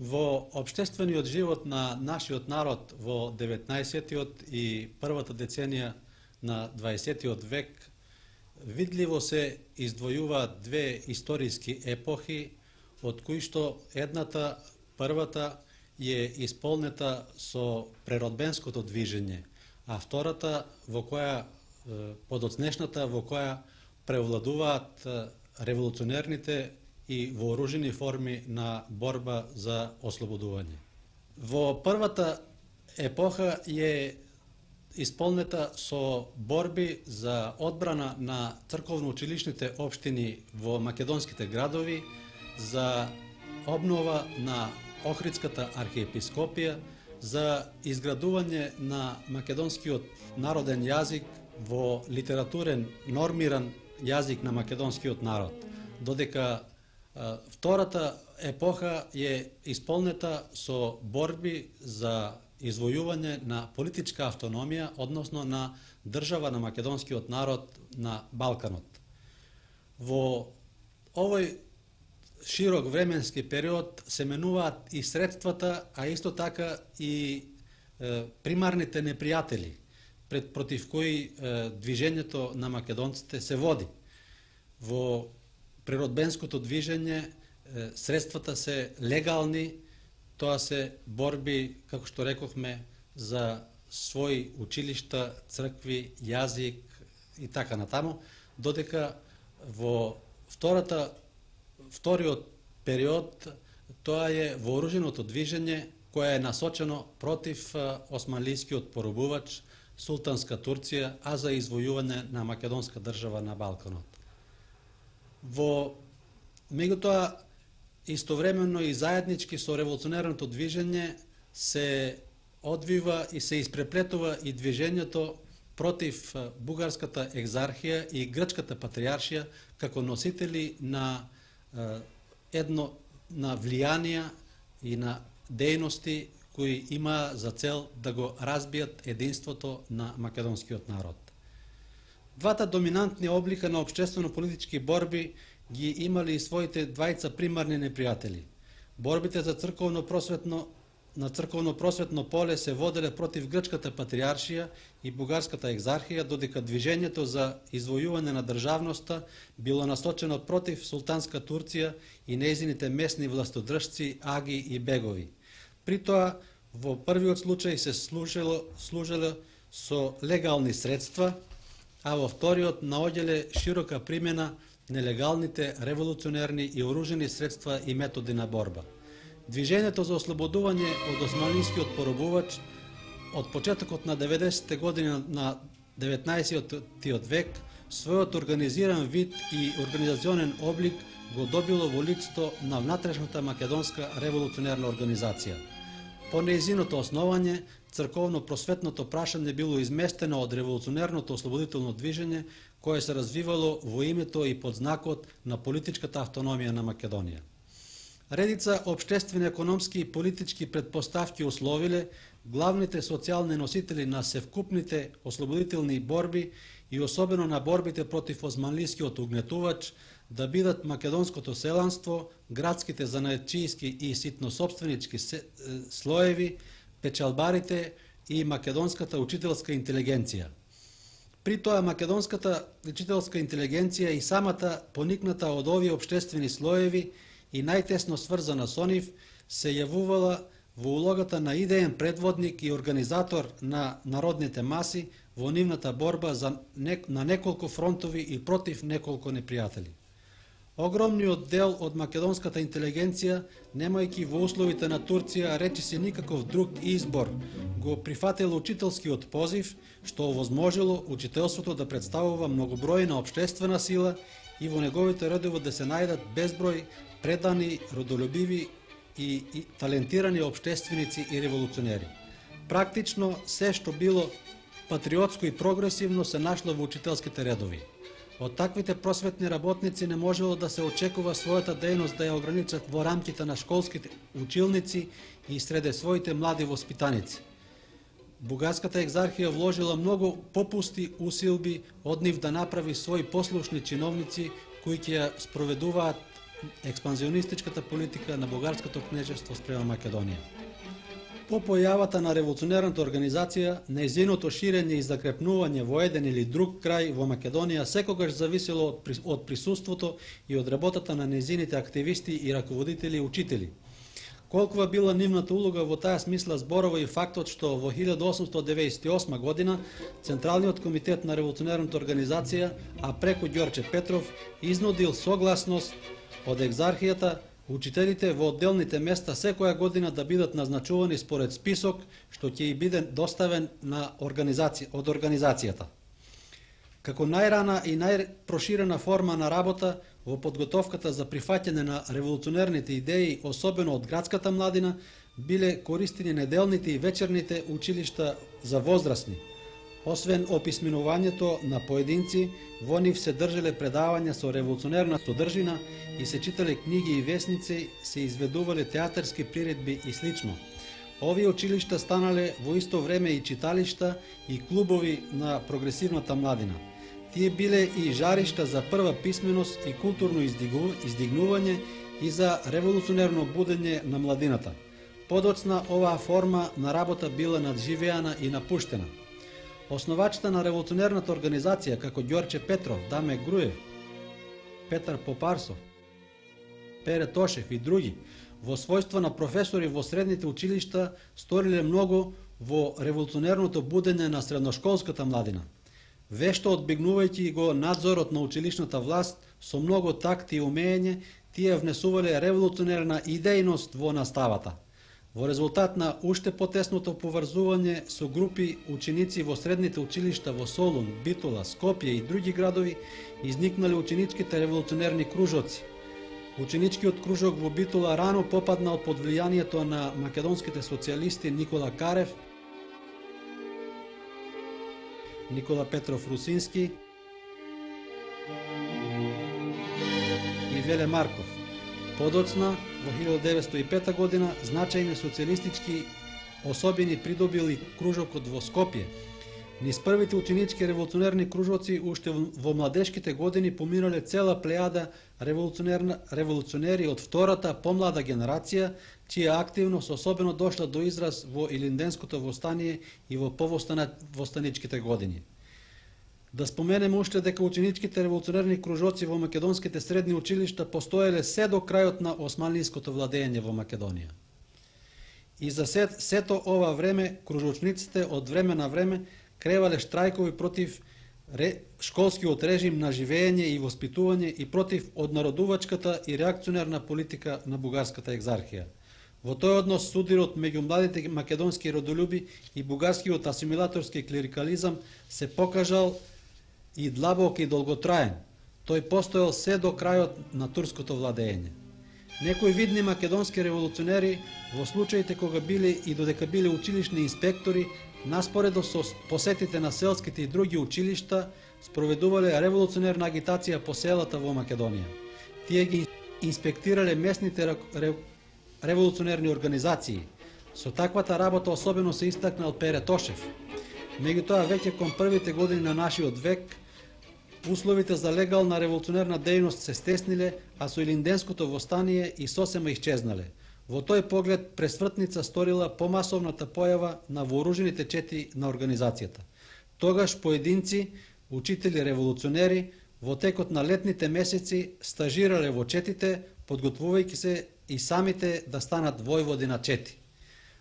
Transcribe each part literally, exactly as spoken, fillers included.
Во општествениот живот на нашиот народ во деветнаесеттиот и првата деценија на дваесеттиот век видливо се издвојуваат две историски епохи, од кои што едната, првата, е исполнета со преродбенското движење, а втората во која подоцнешната во која превладуваат револуционерните и вооружени форми на борба за ослободување. Во првата епоха е исполнета со борби за одбрана на црковно-училишните општини во македонските градови, за обнова на Охридската архиепископија, за изградување на македонскиот народен јазик во литературен нормиран јазик на македонскиот народ, додека втората епоха е исполнета со борби за извојување на политичка автономија, односно на држава на македонскиот народ на Балканот. Во овој широк временски период се менуваат и средствата, а исто така и е, примарните непријатели, пред против кои е, движењето на македонците се води. Во природбенското движење средствата се легални, тоа се борби, како што рекохме, за своји училишта, цркви, јазик и така натаму, додека во втората, вториот период тоа е вооруженото движење кое е насочено против османлискиот поробувач, султанска Турција, а за извојување на македонска држава на Балканот. Во меѓутоа истовремено и заеднички со револуционерното движење се одвива и се испреплетува и движењето против бугарската екзархија и грчката патријаршија како носители на едно на влијанија и на дејности кои има за цел да го разбијат единството на македонскиот народ. Двата доминантни облика на општествено-политички борби ги имали и своите двајца примарни непријатели. Борбите за црковно-просветно на црковно-просветно поле се воделе против грчката патријаршија и бугарската екзархија, додека движењето за извојување на државноста било насочено против султанска Турција и нејзините месни властодржци, аги и бегови. При тоа, во првиот случај се служило, служило со легални средства, а во вториот наоѓале широка примена нелегалните револуционерни и оружени средства и методи на борба. Движењето за ослободување од османлискиот поробувач од почетокот на деветдесетте години на деветнаесеттиот век својот организиран вид и организационен облик го добило во лицето на внатрешната македонска револуционерна организација. По нејзиното основање, црковно-просветното прашање било изместено од револуционерното ослободително движење кое се развивало во името и под знакот на политичката автономија на Македонија. Редица општествени, економски и политички предпоставки условиле главните социјални носители на севкупните ослободителни борби и особено на борбите против османлискиот угнетувач да бидат македонското селанство, градските занаетчијски и ситносопственички слоеви, печалбарите и македонската учителска интелигенција. При тоа македонската учителска интелигенција и самата поникната од овие општествени слоеви и најтесно сврзана со нив се јавувала во улогата на идеен предводник и организатор на народните маси во нивната борба за нек, на неколку фронтови и против неколку непријатели. Огромниот дел од македонската интелигенција, немајќи во условите на Турција речиси никаков друг избор, го прифатило учителскиот позив, што овозможило учителството да представува многобројна општествена сила и во неговите редови да се најдат безброј предани, родолюбиви и, и талентирани општественици и револуционери. Практично се што било патриотско и прогресивно се нашло во учителските редови. Од таквите просветни работници не можело да се очекува својата дејност да ја ограничат во рамките на школските училници и среде своите млади воспитаници. Бугарската екзархија вложила многу попусти усилби од нив да направи своји послушни чиновници кои ќе ја спроведуваат експанзионистичката политика на бугарското кнежество спрема Македонија. По појавата на револуционерната организација, нејзиното ширење и закрепнување во еден или друг крај во Македонија секогаш зависело од присуството и од работата на нејзините активисти и раководители и учители. Колкова била нивната улога во таа смисла зборува и фактот што во илјада осумстотини деветдесет и осма година Централниот комитет на револуционерната организација, а преку Ѓорче Петров, изнудил согласност од екзархијата учителите во одделните места секоја година да бидат назначувани според список што ќе и биде доставен на организација од организацијата. Како најрана и најпроширена форма на работа во подготовката за прифаќање на револуционерните идеи, особено од градската младина, биле користени неделните и вечерните училишта за возрастни. Освен описменувањето на поединци, во нив се држеле предавања со револуционерна содржина и се читале книги и весници, се изведувале театарски приредби и слично. Овие училишта станале во исто време и читалишта и клубови на прогресивната младина. Тие биле и жаришта за прва писменост и културно издигнување и за револуционерно будење на младината. Подоцна оваа форма на работа била надживеана и напуштена. Основачите на револуционерната организација како Ѓорче Петров, Даме Груев, Петар Попарсов, Пере Тошев и други, во својство на професори во средните училишта, сториле многу во револуционерното будење на средношколската младина. Вешто одбегнувајќи го надзорот на училишната власт, со многу такт и умење, тие внесувале револуционерна идејност во наставата. Во резултат на уште потесното поврзување со групи ученици во средните училишта во Солун, Битола, Скопје и други градови, изникнале ученичките револуционерни кружоци. Ученичкиот кружок во Битола рано попаднал под влијанието на македонските социјалисти Никола Карев, Никола Петров Русински и Веле Марков. Подоцна, во илјада деветстотини и пета година, значајни социјалистички особини придобил и кружокот во Скопје. Низ првите ученички револуционерни кружоци уште во младешките години поминале цела плејада револуционери од втората помлада генерација, чија активност особено дошла до израз во Илинденското востание и во повостаничките години. Да споменеме уште дека ученичките револуционерни кружоци во македонските средни училишта постоеле се до крајот на османлиското владење во Македонија. И за сето ова време кружочниците од време на време кревале штрајкови против школскиот режим на живење и воспитување и против однародувачката и реакционерна политика на бугарската екзархија. Во тој однос судирот меѓу младите македонски родолюби и бугарскиот асимилаторски клерикализам се покажал и длабок и долготраен. Тој постоел се до крајот на турското владење. Некои видни македонски револуционери во случаите кога биле и додека биле училишни инспектори, наспоредо со посетите на селските и други училишта, спроведувале револуционерна агитација по селата во Македонија. Тие ги инспектирале местните револуционерни организации. Со таквата работа особено се истакнал Пере Тошев. Меѓутоа, веќе кон првите години на нашиот век, условите за легална револуционерна дејност се стесниле, а со Илинденското востание и сосема исчезнале. Во тој поглед пресвртница сторила помасовната појава на вооружените чети на организацијата. Тогаш поединци, учители револуционери, во текот на летните месеци стажирале во четите, подготвувајќи се и самите да станат војводи на чети.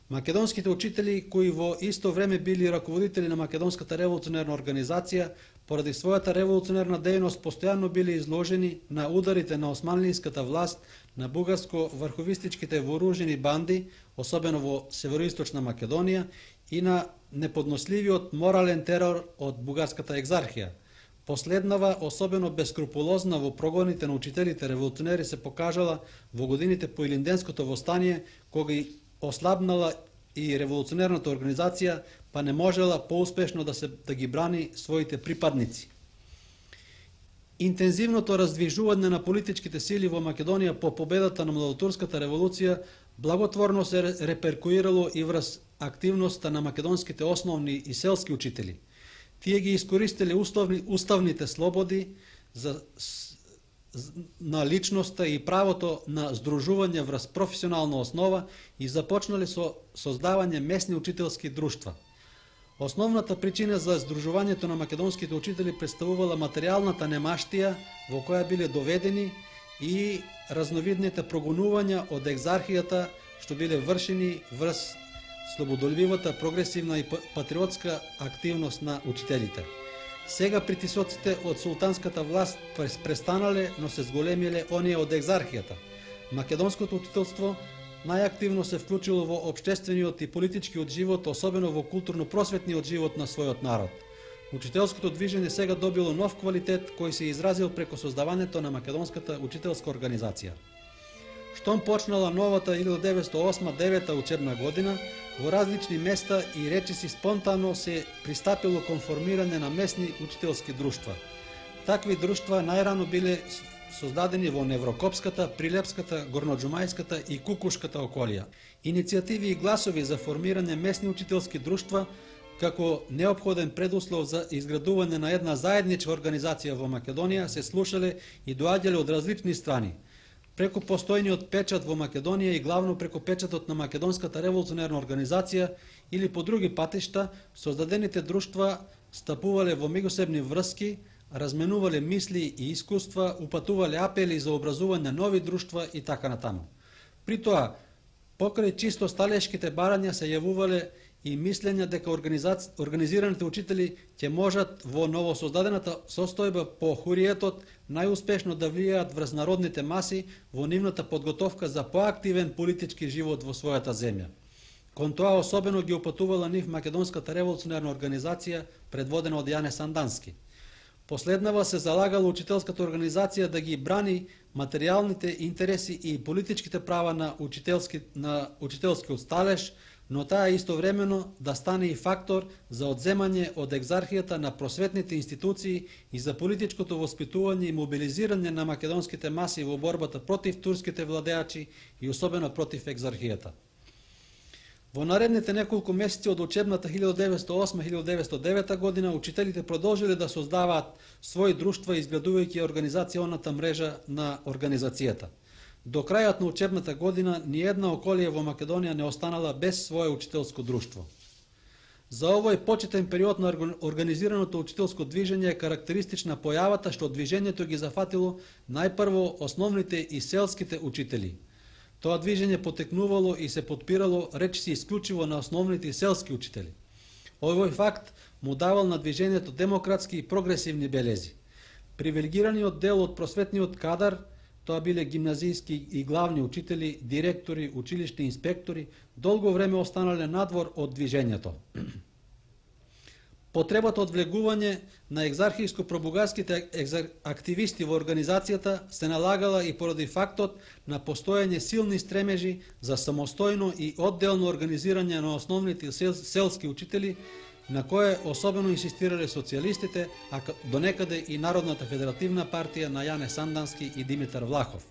Македонските учители, кои во исто време били раководители на Македонската револуционерна организација, поради својата револуционерна дејност постојано били изложени на ударите на османлиската власт, на бугарско-врховистичките вооружени банди, особено во североисточна Македонија, и на неподносливиот морален терор од бугарската екзархија. Последнава, особено бескрупулозна во прогоните на учителите револуционери, се покажала во годините по Илинденското востание, кога и ослабнала и револуционерната организација, па не можела поуспешно да се да ги брани своите припадници. Интензивното раздвижување на политичките сили во Македонија по победата на младотурската револуција благотворно се реперкуирало и врз активноста на македонските основни и селски учители. Тие ги искористиле уставни, уставните слободи за на личноста и правото на здружување врз професионална основа и започнале со создавање месни учителски друштва. Основната причина за здружувањето на македонските учители представувала материјалната немаштија во која биле доведени и разновидните прогонувања од екзархијата што биле вршени врз слободолюбивата, прогресивна и патриотска активност на учителите. Сега притисоците од султанската власт престанале, но се зголемиле оние од екзархијата. Македонското учителство најактивно се вклучило во општествениот и политичкиот живот, особено во културно-просветниот живот на својот народ. Учителското движење сега добило нов квалитет кој се изразил преко создавањето на Македонската учителска организација. Штом почнала новата илјадесетстотини деветдесет и осма девета учебна година, во различни места и речиси спонтано се пристапило кон формирање на месни учителски друштва. Такви друштва најрано биле создадени во Неврокопската, Прилепската, Горноџумајската и Кукушката околија. Иницијативи и гласови за формирање месни учителски друштва како неопходен предуслов за изградување на една заедничка организација во Македонија се слушале и доаѓале од различни страни. Преку постојниот печат во Македонија и главно преку печатот на Македонската револуционерна организација или по други патишта, создадените друштва стапувале во меѓусебни врски, разменувале мисли и искуства, упатувале апели за образување на нови друштва и така натаму. При тоа, покрај чисто сталешките барања се јавувале и мислења дека организираните учители ќе можат во новосоздадената состојба по хуриетот најуспешно да влијаат врз народните маси во нивната подготовка за поактивен политички живот во својата земја. Кон тоа особено ги упатувала нив Македонската револуционерна организација предводена од Јане Сандански. Последнава се залагала учителската организација да ги брани материјалните интереси и политичките права на учителски на учителскиот сталеж, но таа истовремено да стане и фактор за одземање од екзархијата на просветните институции и за политичкото воспитување и мобилизирање на македонските маси во борбата против турските владеачи и особено против екзархијата. Во наредните неколку месеци од учебната илјада деветстотини и осма - илјада деветстотини и девета година учителите продолжиле да создаваат своји друштва изградувајќи организационата мрежа на организацијата. До крајот на учебната година ниедна околија во Македонија не останала без свое учителско друштво. За овој почетен период на организираното учителско движење е карактеристична појавата што движењето ги зафатило најпрво основните и селските учители. Тоа движење потекнувало и се подпирало речиси исклучиво на основните и селски учители. Овој факт му давал на движењето демократски и прогресивни белези. Привилегираниот дел од просветниот кадар, тоа биле гимназијски и главни учители, директори, училишни инспектори, долго време останале надвор од движењето. Потребата од влегување на екзархијско-пробугарските активисти во организацијата се налагала и поради фактот на постојање силни стремежи за самостојно и одделно организирање на основните сел, селски учители, на кое особено инсистирале социјалистите, а донекаде и Народната федеративна партија на Јане Сандански и Димитар Влахов.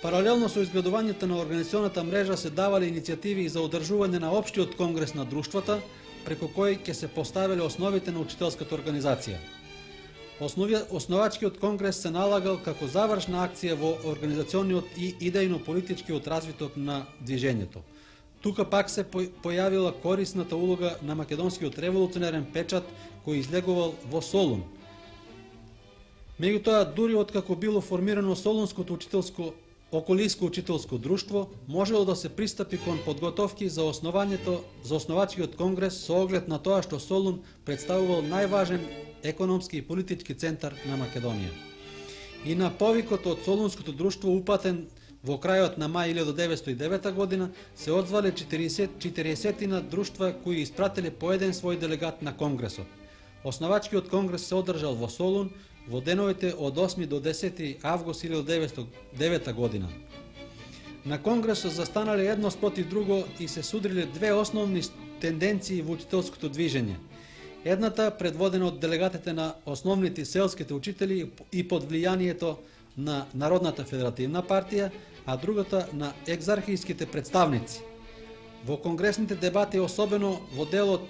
Паралелно со изградувањето на организационата мрежа се давале иницијативи за одржување на општиот конгрес на друштвата, преку кој ќе се поставиле основите на учителската организација. Основи, основачкиот конгрес се налагал како завршна акција во организациониот и идејно-политичкиот развиток на движењето. Тука пак се појавила корисната улога на македонскиот револуционерен печат кој излегувал во Солун. Меѓутоа, дури откако било формирано Солунското учителско околиско учителско друштво, можело да се пристапи кон подготовки за основањето за основачкиот конгрес со оглед на тоа што Солун представувал најважен економски и политички центар на Македонија. И на повикот од Солунското друштво упатен во крајот на мај илјада деветстотини и девета година се одзвале четириесет друштва кои испратиле по еден свој делегат на конгресот. Основачкиот конгрес се одржал во Солун во деновите од осми до десети август илјада деветстотини и девета година. На конгресот застанале едно спротив друго и се судриле две основни тенденции во учителското движење. Едната предводена од делегатите на основните селските учители и под влијанието на Народната федеративна партија, а другата на екзархијските представници. Во конгресните дебати, особено во делот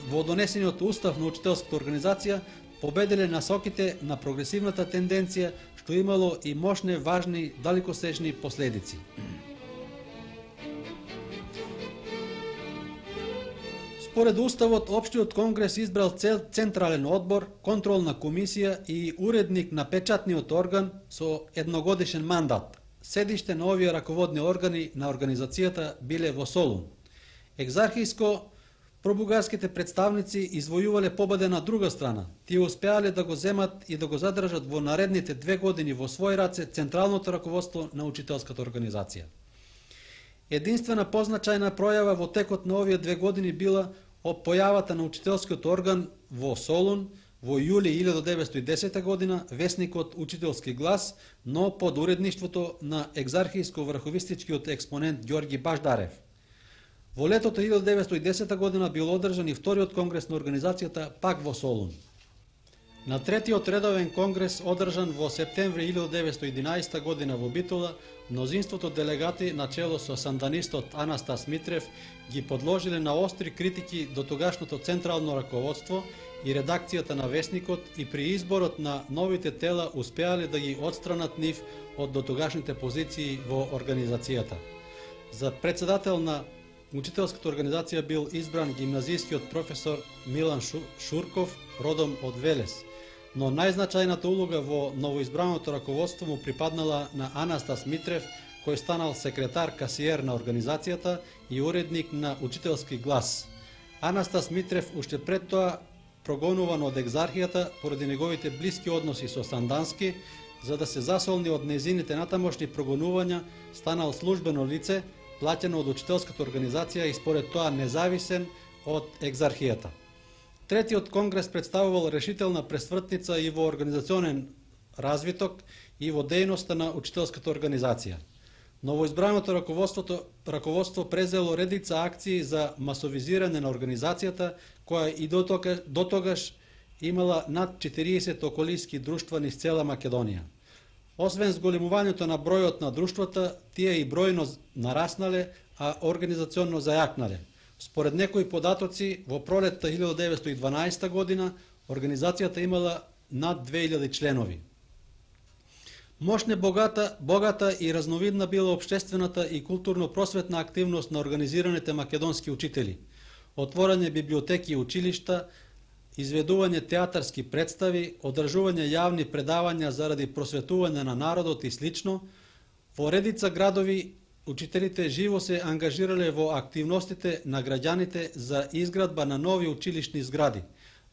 во донесениот устав на учителската организација, победиле насоките на прогресивната тенденција, што имало и мощни, важни, далекосечни последици. Според Уставот, Општиот конгрес избрал цел Централен одбор, контролна комисија и уредник на печатниот орган со едногодишен мандат. Седиште на овие раководни органи на организацијата биле во Солун. Екзархиско пробугарските представници извојувале победа на друга страна. Тие успеале да го земат и да го задржат во наредните две години во свој раце централното раководство на учителската организација. Единствена позначајна пројава во текот на овие две години била појавата на учителскиот орган во Солун во јули илјадесетте деветстотини и десета година, весникот Учителски глас, но под уредништвото на екзархиско-врховистичкиот експонент Ѓорги Баждарев. Во летото илјадесетте деветстотини и десета година бил одржан и вториот конгрес на организацијата пак во Солун. На третиот редовен конгрес, одржан во септември илјадесетте деветстотини и единаесета година во Битола, мнозинството делегати на чело со санданистот Анастас Митрев ги подложиле на остри критики до тогашното централно раководство и редакцијата на весникот и при изборот на новите тела успеале да ги отстранат нив од дотогашните позиции во организацијата. За председател на учителската организација бил избран гимназискиот професор Милан Шурков, родом од Велес, но најзначајната улога во новоизбраното раководство му припаднала на Анастас Митрев, кој станал секретар касиер на организацијата и уредник на Учителски глас. Анастас Митрев уште пред тоа прогонуван од екзархијата поради неговите блиски односи со Сандански, за да се засолни од незините натамошни прогонувања, станал службено лице, плаќено од учителската организација и според тоа независен од екзархијата. Третиот конгрес представувал решителна пресвртница и во организационен развиток и во дејноста на учителската организација. Новоизбраното раководството раководство презело редица акции за масовизирање на организацијата, која и до тогаш, до тогаш имала над четириесет околиски друштва низ цела Македонија. Освен зголемувањето на бројот на друштвата, тие и бројно нараснале, а организационно зајакнале. Според некои податоци, во пролетта илјадесетте деветстотини и дванаесета година, организацијата имала над две илјади членови. Мощна, богата, богата и разновидна била општествената и културно-просветна активност на организираните македонски учители. Отворање библиотеки и училишта, изведување театарски представи, одржување јавни предавања заради просветување на народот и слично. Во редица градови учителите живо се ангажирале во активностите на граѓаните за изградба на нови училишни згради.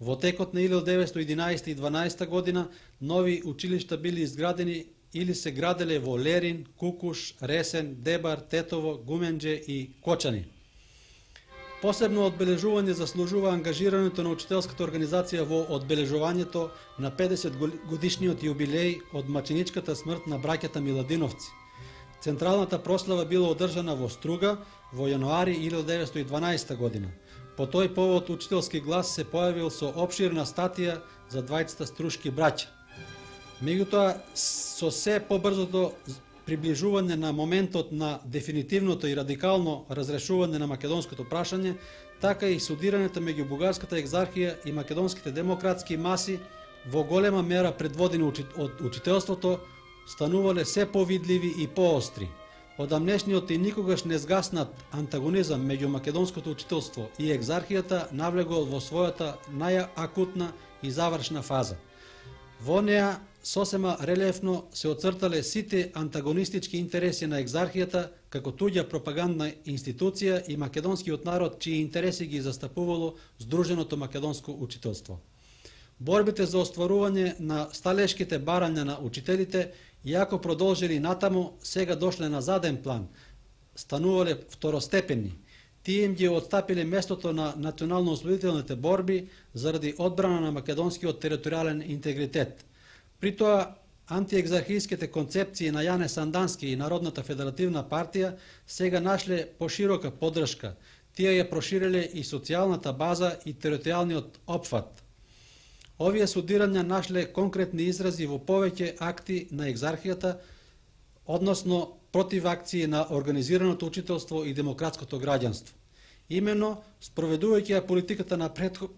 Во текот на илјадесетте деветстотини и единаесета и дванаесета година нови училишта били изградени или се граделе во Лерин, Кукуш, Ресен, Дебар, Тетово, Гуменџе и Кочани. Посебно одбележување заслужува ангажирањето на учителската организација во одбележувањето на педесет годишниот јубилеј од маченичката смрт на браќата Миладиновци. Централната прослава била одржана во Струга во јануари илјадесетте деветстотини и дванаесета година. По тој повод Учителски глас се појавил со опширна статија за двајцата струшки браќа. Меѓутоа, со се побрзото приближување на моментот на дефинитивното и радикално разрешување на македонското прашање, така и судирањето меѓу бугарската екзархија и македонските демократски маси во голема мера предводени од учителството, станувале се повидливи и поостри. Одамнешниот и никогаш не згаснат антагонизам меѓу македонското учителство и екзархијата навлегол во својата најакутна и завршна фаза. Во неа сосема релефно се оцртале сите антагонистички интереси на екзархијата како туѓа пропагандна институција и македонскиот народ чии интереси ги застапувало Сдруженото македонско учителство. Борбите за остварување на сталешките барања на учителите, иако продолжили натаму, сега дошле на заден план, станувале второстепенни. Тие им ги отстапиле местото на национално-ослободителните борби заради одбрана на македонскиот територијален интегритет. При тоа, антиекзархиските концепции на Јане Сандански и Народната федеративна партија сега нашле поширока поддршка. Тие ја прошириле и социјалната база и територијалниот опфат. Овие судирања нашле конкретни изрази во повеќе акти на екзархијата, односно против акции на организираното учителство и демократското граѓанство. Именно, спроведувајќи ја политиката на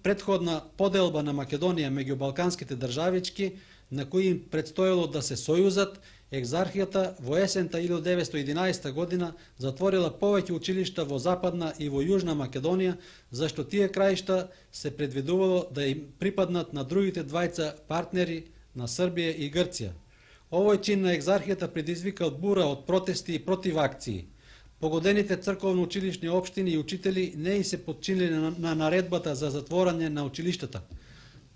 претходна поделба на Македонија меѓу балканските државички, на кои им предстоело да се сојузат, Екзархијата во есента илјадум деветстотини и единаесета година затворила повеќе училишта во Западна и во Јужна Македонија, зашто тие краишта се предвидувало да им припаднат на другите двајца партнери на Србија и Грција. Овој чин на Екзархијата предизвикал бура од протести и противакции. Погодените црковно-училишни општини и учители не и се подчинили на, на наредбата за затворање на училиштата.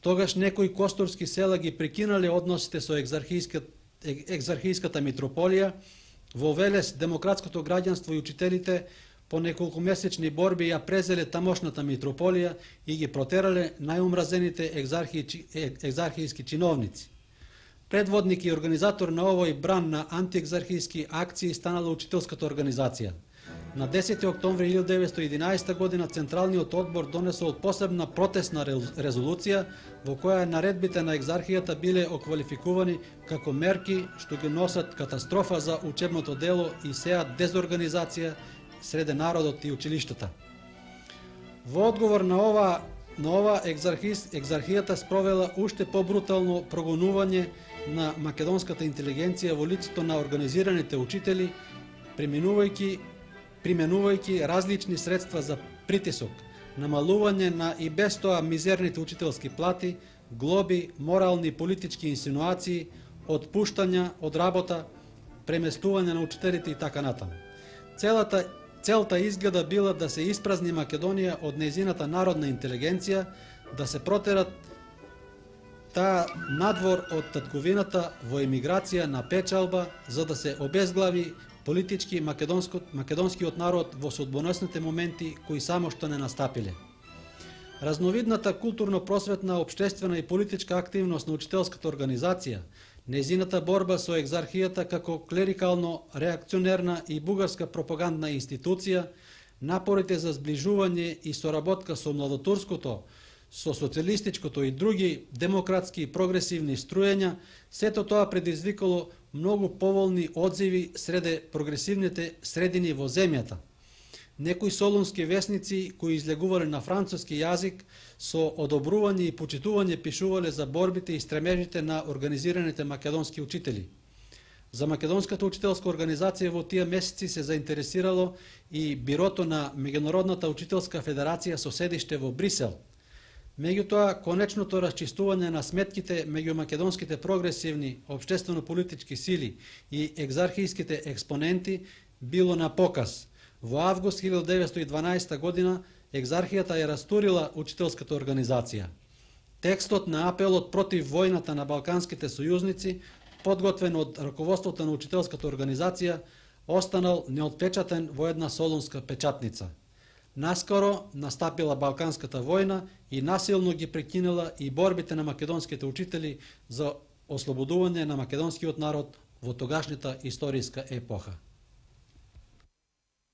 Тогаш некои костурски села ги прекинале односите со екзархијската, екзархијската митрополија, во Велес демократското граѓанство и учителите по неколкумесечни борби ја презеле тамошната митрополија и ги протерале најумразените екзархијски чиновници. Предводник и организатор на овој бран на антиекзархијски акции станала учителската организација. На десети октомври илјадум деветстотини и единаесета година Централниот одбор донесол посебна протестна резолуција во која наредбите на екзархијата биле оквалификувани како мерки што ги носат катастрофа за учебното дело и сеат дезорганизација среде народот и училиштата. Во одговор на ова, на ова екзархијата спровела уште побрутално прогонување на македонската интелигенција во лицето на организираните учители, преминувајќи применувајќи различни средства за притисок, намалување на и без тоа мизерните учителски плати, глоби, морални и политички инсинуации, отпуштања од работа, преместување на учителите и така натаму. Целата целта изгледа била да се испразни Македонија од нејзината народна интелигенција, да се протерат таа надвор од татковината во емиграција на печалба, за да се обезглави политички македонскиот народ во судбоносните моменти кои само што не настапиле. Разновидната културно-просветна, општествена и политичка активност на учителската организација, нејзината борба со екзархијата како клерикално, реакционерна и бугарска пропагандна институција, напорите за зближување и соработка со младотурското, со социјалистичкото и други демократски и прогресивни струења, сето тоа предизвикало многу поволни одзиви среде прогресивните средини во земјата. Некои солунски весници кои излегувале на француски јазик со одобрување и почитување пишувале за борбите и стремежите на организираните македонски учители. За Македонската учителска организација во тие месеци се заинтересирало и бирото на Меѓународната учителска федерација со седиште во Брисел. Меѓутоа, конечното расчистување на сметките меѓу македонските прогресивни општествено-политички сили и екзархијските експоненти било на показ. Во август илјадум деветстотини и дванаесета година екзархијата ја растурила учителската организација. Текстот на апелот против војната на балканските сојузници, подготвен од раководството на учителската организација, останал неотпечатен во една солунска печатница. Наскоро настапила Балканската војна и насилно ги прекинала и борбите на македонските учители за ослободување на македонскиот народ во тогашната историска епоха.